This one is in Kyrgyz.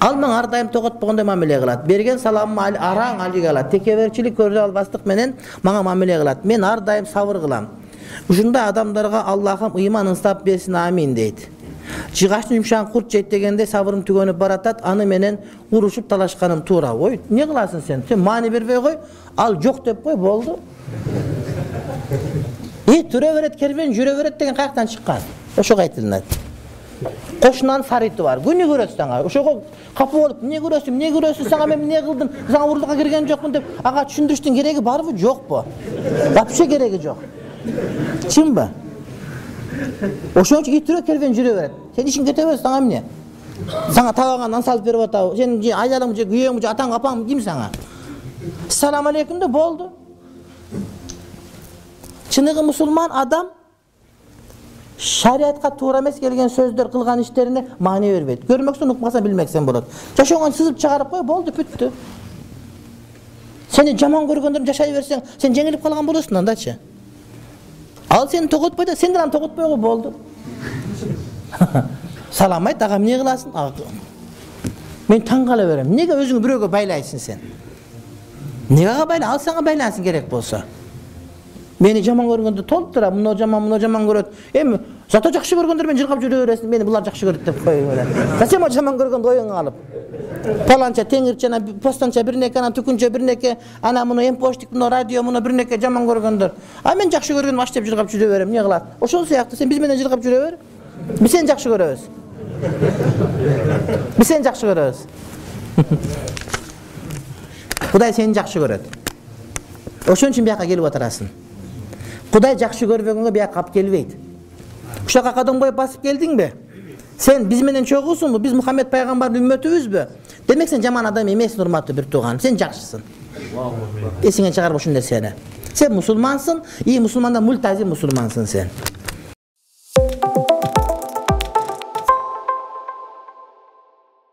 Ал мага ар дайым тоготпогондой мамиле кылат. Берген саламым араң алиге алат. Текеберчилик көрө албастык менен мага мамиле кылат. Мен ар дайым сабыр кылам. Ушундай адамдарга Аллахым ыйман ынстап берсин, амин дейт. Жыгачтын жумшагын курт жейт дегенде сабырым түгөнүп баратат, аны менен урушуп талашканым туура. Ой, эмне кыласың сен? Сен маани бербей кой, ал жок деп кой, болду. Түрө берет, кербен жүрө берет деген каяктан чыккан? Ошого айтылат. Кошунанын сарыты бар. Күнү көрөсүң ага. Ошого капа болуп, эмне көрөсүң? Сага мен эмне кылдым? Сага урлукка кирген жокмун деп ага түшүндүрүштүн кереги барбы, жокпу? Вообще кереги жок. Чынбы? Ошон үчүн түрө кербен жүрө берет. Сен ишиң кете берсиң, сага эмне? Сага табаган нан салып берип атабы? Сен айларың же күйөөң же атаң апаң ким сага? Салам алейкум да болду. Чыныгы мусулман адам шариатка туура эмес келген сөздөр кылган иштерине маани бербейт. Көрмөксүн, укмасаң билмексең болот. Жашооңон сызып чыгарып кой, болду, бүттү. Сени жаман көргөндөрүн жашай берсең, сен жеңилип калган болосуң андачы. Ал сени тоготпойт, сен деле аны тоготпой кой, болду. Салам айт, ага эмне кыласың? Мен таң кала берем. Эмнеге өзүңү бирөөгө байлайсың сен? Неге байлай? Ал сага байлансың керек болсо. Мени жаман көргөндө толтура, муну жаман көрөт. Эми зато жакшы көргөндөр мен жыргап жүрө бересиң, мени булар жакшы көрөт деп кой эле. Зачем о жаман көргөндө оюңа алып? Паланча, теңирче, постанча бирнеке, анан түкүнчө бирнеке, ана муну эмпоштик, муну радио, муну бирнеке жаман көргөндөр. А мен жакшы көргөндө аш деп жыргап жүрө берем, эмне кылат? Ошол сыяктуу сен биз менен жыргап жүрө бер. Биз сени жакшы көрөбүз. Биз сени жакшы көрөбүз. Кудай сени жакшы көрөт. Ошон үчүн бияка келип отурасың. Кудай жакшы көрбөгөнгө бияка алып келбейт. Ушака кадам коюп басып келдиңби? Сен биз менен чогуусуңбу? Биз Мухаммед пайгамбардын үммөтүбүзбү? Демек сен жаман адам эмессиң, урматтуу бир тууган. Сен жакшысың. Эсиңен чыгарып ушул нерсени. Сен мусулмансың, мусулмандан мультазим мусулмансың сен.